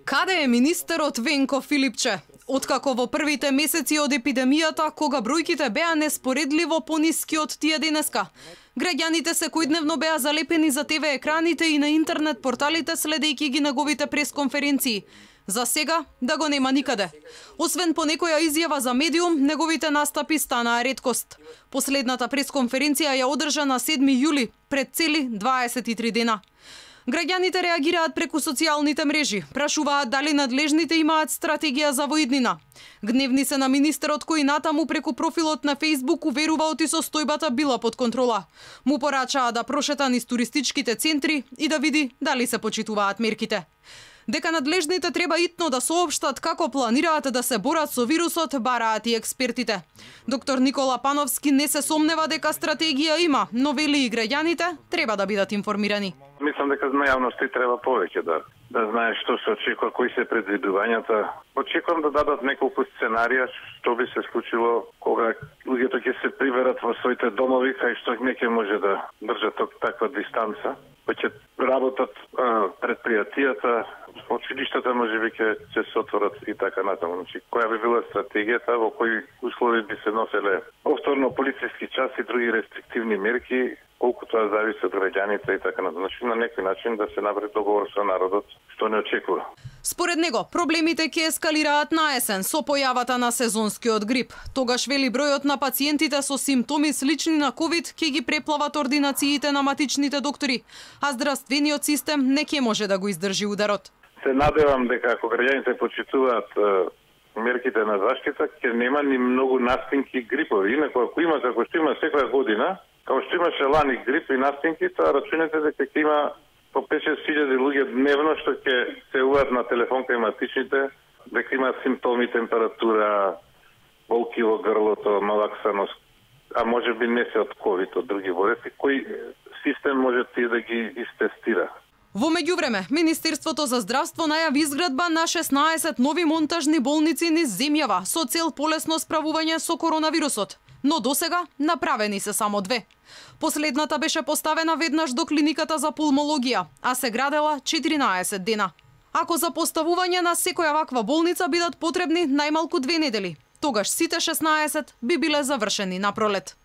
Каде е министерот Венко Филипче? Откако во првите месеци од епидемијата, кога бројките беа неспоредливо пониски од тие денеска, граѓаните секојдневно беа залепени за ТВ екраните и на интернет порталите следејќи ги неговите пресконференции. За сега да го нема никаде. Освен по некоја изјава за медиум, неговите настапи станаа реткост. Последната пресконференција ја одржа на 7 јули, пред цели 23 дена. Граѓаните реагираат преку социјалните мрежи, прашуваат дали надлежните имаат стратегија за воиднина. Гневни се на министерот кој натаму преку профилот на Facebook уверува оти состојбата била под контрола. Му порачаа да прошета низ туристичките центри и да види дали се почитуваат мерките. Дека надлежните треба итно да соопштат како планираат да се борат со вирусот, бараат и експертите. Доктор Никола Пановски не се сомнева дека стратегија има, но вели и граѓаните треба да бидат информирани. Мислам дека на јавноста треба повеќе да знае што се очекува, кои се предвидувањата. Очекувам да дадат неколку сценарија што би се случило кога луѓето ќе се приберат во своите домови, кај што не ќе може да држат таква дистанца. Ќе работат предпријатијата, училиштата можеби ќе се отворат и така натаму. Значи, која би била стратегијата, во кои услови би се носеле повторно полициски час и други рестриктивни мерки, колку тоа зависи од граѓаните и така натаму. Значи, на некој начин да се направи договор со народот, што не очекува. Според него, проблемите ќе ескалираат на есен со појавата на сезонскиот грип. Тогаш вели бројот на пациентите со симптоми слични на ковид ќе ги преплават ординациите на матичните доктори, а здравствениот систем не ќе може да го издржи ударот. Се надевам дека ако граѓаните почитуваат мерките на заштита, ќе нема ни многу настинки грипови. Инаку ако има како што има секоја година, како што имаше лани грип и настинки, тоа рачунете дека ќе има по 5-6 луѓе дневно што ќе се уват на телефон кај матичните, дека има симптоми, температура, болки во грлото, малаксаност, а може би не се од ковид, од други болести. Кој систем може тие да ги истестира? Во меѓувреме, Министерството за здравство најави изградба на 16 нови монтажни болници низ земјава со цел полесно справување со коронавирусот. Но досега направени се само 2. Последната беше поставена веднаш до клиниката за пулмологија, а се градела 14 дена. Ако за поставување на секоја ваква болница бидат потребни најмалку 2 недели, тогаш сите 16 би биле завршени на пролет.